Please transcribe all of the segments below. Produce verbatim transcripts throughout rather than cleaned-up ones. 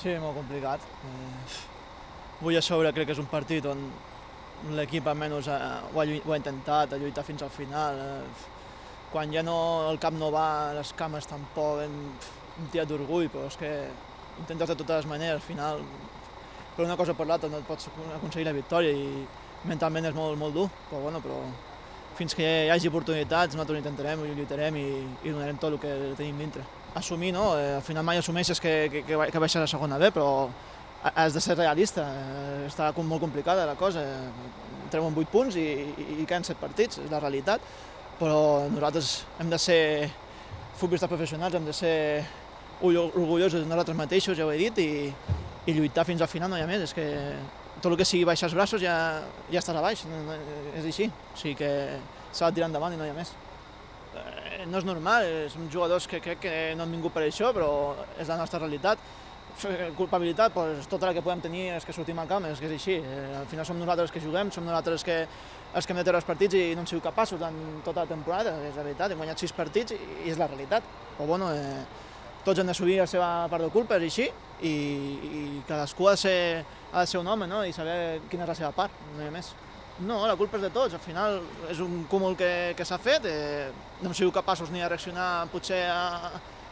Sí, molt complicat. Eh, avui a sobre crec que és un partit on l'equip almenys ha, ho, ha, ho ha intentat, ha lluitat fins al final. Eh, quan ja no, el cap no va, les cames tampoc, hem, hem tirat d'orgull, però és que intentes de totes les maneres, al final, per una cosa o per l'altra no et pots aconseguir la victòria i mentalment és molt, molt dur, però, bueno, però fins que hi hagi oportunitats nosaltres ho intentarem, ho lluitarem i, i donarem tot el que tenim dintre. Assumir, no? Eh, al final mai assumeixes que, que, que, que baixes a la segona B, però has de ser realista, eh, està molt complicada la cosa, eh, treuen vuit punts i, i, i queden set partits, és la realitat, però nosaltres hem de ser futbolistes professionals, hem de ser orgullosos de nosaltres mateixos, ja ho he dit, i, i lluitar fins al final no hi ha més, és que tot el que sigui baixar els braços ja, ja estàs a baix, no, no, és així, o sigui que s'ha de tirar endavant i no hi ha més. Eh, no és normal, som jugadors que crec que no han vingut per això, però és la nostra realitat. Culpabilitat, doncs, tota la que podem tenir és que sortim al camp, és que és així. Eh, al final som nosaltres que juguem, som nosaltres que, els que hem de treure els partits i no hem sigut capaços en tota la temporada, és la veritat, hem guanyat sis partits i, i és la realitat. Però bueno, eh, tots hem d'assumir la seva part de culpa, és així, i, i cadascú ha de, ser, ha de ser un home, no? I saber quina és la seva part, no hi ha més. No, la culpa és de tots, al final és un cúmul que, que s'ha fet, eh, no hem sigut capaços ni de reaccionar potser a,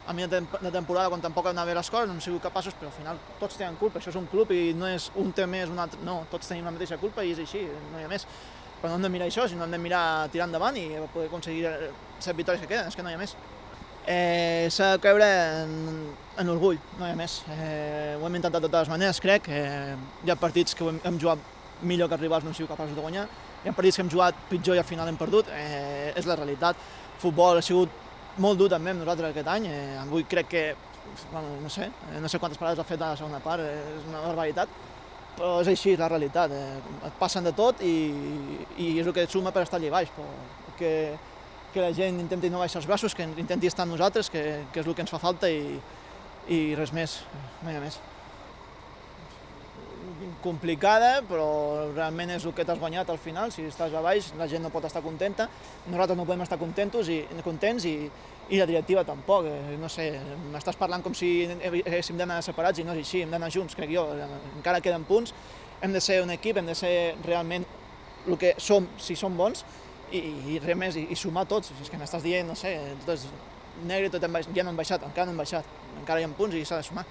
a mi de temporada quan tampoc han anat bé les coses, no hem sigut capaços, però al final tots tenen culpa, això és un club i no és un té més, un altre, no, tots tenim la mateixa culpa i és així, no hi ha més. Però no hem de mirar això, sinó hem de mirar tirar endavant i poder aconseguir set victòries que queden, és que no hi ha més. Eh, S'ha de creure en, en orgull, no hi ha més. Eh, ho hem intentat de totes les maneres, crec. Eh, hi ha partits que hem, hem jugat millor que els rivals no hem sigut capaços de guanyar, hi ha partits que hem jugat pitjor i al final hem perdut, eh, és la realitat. El futbol ha sigut molt dur també amb nosaltres aquest any, eh, avui crec que, bueno, no sé, no sé quantes parades ha fet a la segona part, eh, és una barbaritat, però és així, és la realitat, eh, et passen de tot i, i és el que et suma per estar allà baix, però que, que la gent intenti no baixar els braços, que intenti estar amb nosaltres, que, que és el que ens fa falta i, i res més, no hi ha més. Complicada, però realment és el que t'has guanyat al final, si estàs a baix la gent no pot estar contenta, nosaltres no podem estar contents i, contents i, i la directiva tampoc, no sé, m'estàs parlant com si haguéssim d'anar separats i no és així, hem d'anar junts, crec jo, encara queden punts, hem de ser un equip, hem de ser realment el que som, si som bons, i, i res més, i, i sumar tots, si és que m'estàs dient, no sé, tot és negre, tot hem, ja no han baixat, encara no han baixat, encara hi ha punts i s'ha de sumar.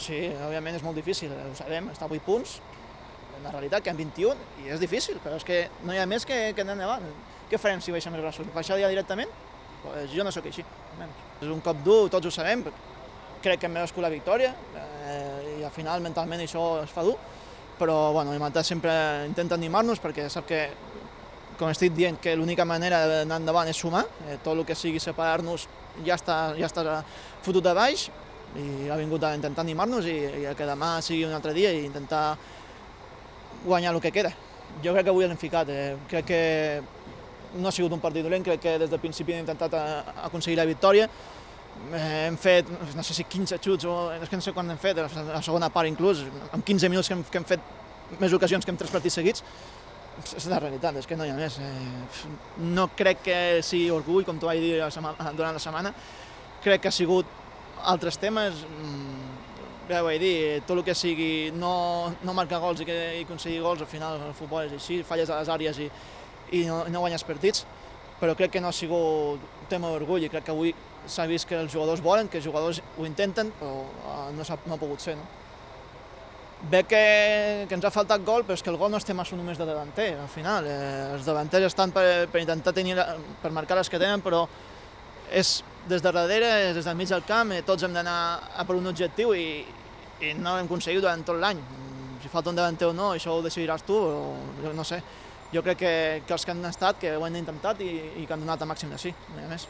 Sí, òbviament és molt difícil, ho sabem, està a vuit punts, en la realitat que en vint-i-un, i és difícil, però és que no hi ha més que, que anar endavant. Què farem si baixem els braços? Baixar ja directament? Pues jo no sóc així, almenys. És un cop dur, tots ho sabem, crec que hem merescut la victòria, eh, i al final mentalment això es fa dur, però bueno, l'Imantat sempre intenta animar-nos perquè sap que, com estic dient, que l'única manera d'anar endavant és sumar, eh, tot el que sigui separar-nos ja està, ja està fotut de baix, i ha vingut a intentar animar-nos i, i que demà sigui un altre dia i intentar guanyar el que queda. Jo crec que avui l'hem ficat, eh, crec que no ha sigut un partit dolent, crec que des del principi hem intentat a, a aconseguir la victòria. Eh, hem fet, no sé si quinze xuts, o és que no sé quan hem fet, a la segona part inclús, en quinze minuts que hem, que hem fet més ocasions que en tres partits seguits. És la realitat, és que no hi ha més. Eh, no crec que sigui orgull, com t'ho vaig dir durant la setmana, crec que ha sigut altres temes, ja ho vaig dir, tot el que sigui no, no marcar gols i, que, i aconseguir gols, al final el futbol és així, falles a les àrees i, i no, no guanyes partits, però crec que no ha sigut un tema d'orgull i crec que avui s'ha vist que els jugadors volen, que els jugadors ho intenten, però no, ha, no ha pogut ser. No? Bé que, que ens ha faltat gol, però és que el gol no estem massa només de davanter, al final. Eh, els davanters estan per, per intentar tenir, per marcar les que tenen, però és des de darrere, des del mig del camp, tots hem d'anar a per un objectiu i, i no l'hem aconseguit durant tot l'any. Si falta un davanter o no, això ho decidiràs tu, però no sé. Jo crec que, que els que han estat, que ho han intentat i, i que han donat el màxim de sí, no hi ha més.